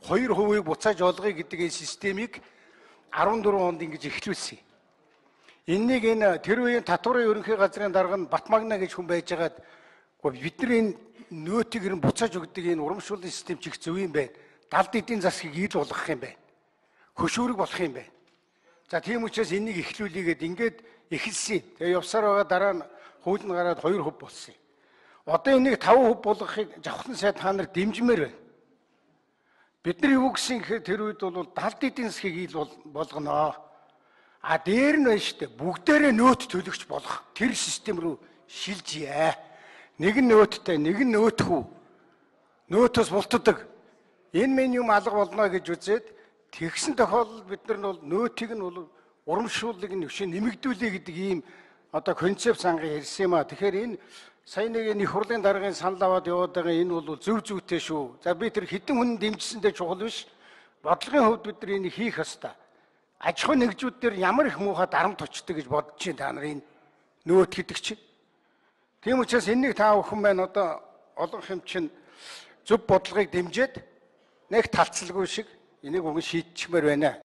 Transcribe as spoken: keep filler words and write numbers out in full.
хоёр хувийг буцааж олгоё гэдэг энэ системийг арван дөрвөн онд ингэж эхлүүлсэн. Энэнийг энэ тэр үеийн татварын ерөнхий газрын дарга нь Батмагна гэж хүн байжгаад бидний энэ нөөтийг нь буцааж өгдөг энэ урамшууллын систем чих зөв юм байна. Далд эдийн засгийг ил болгох юм байна. Хөшүүрэг болох юм байна. За тийм учраас энийг эхлүүлээгээд ингээд эхэлсэн. Тэгээ явсаар байгаа дараа нь хууль нь гараад хоёр хөв болсон юм. Одоо энийг таван хөв болгохыг Жавхлан сайд та нар дэмжмээр байна. Бид нар юу гэсэн гэхээр тэр үед бол далд эдийн засгийг ил болгоно. А дээр нь байна шүү дээ. Бүгдээрээ нөөт төлөгч болох тэр систем рүү шилжийе. Нэг нь нөөттэй, нэг нь нөөтхүү. Нөөтөөс бултдаг. Энэ минь юм алга болно гэж үзээд тэгсэн тохиолдолд бид нар нь бол нөөтийг нь бол урамшууллыг нь өшөө нэмэгдүүлээ гэдэг ийм одоо концепт сангаа ярьсан юм а. Тэгэхээр энэ сая нэг энэ их хурлын даргын санал аваад яваад байгаа энэ бол зөв зүйтэй шүү. За би тэр хэдэн хүн дэмжсэндээ чухал биш. Бодлогын хувьд бид нар энийг хийх ёстой. Аж ахуй нэгжүүд дээр ямар их муухай дарамт очдог гэж бодож чинь та нар энэ нөөт гэдэг чинь. Тийм учраас энийг та бүхэн байна одоо олон хэм чинь зөв бодлогыг дэмжиж нэг талцалгүй шиг энийг уг шийдчихмээр байна.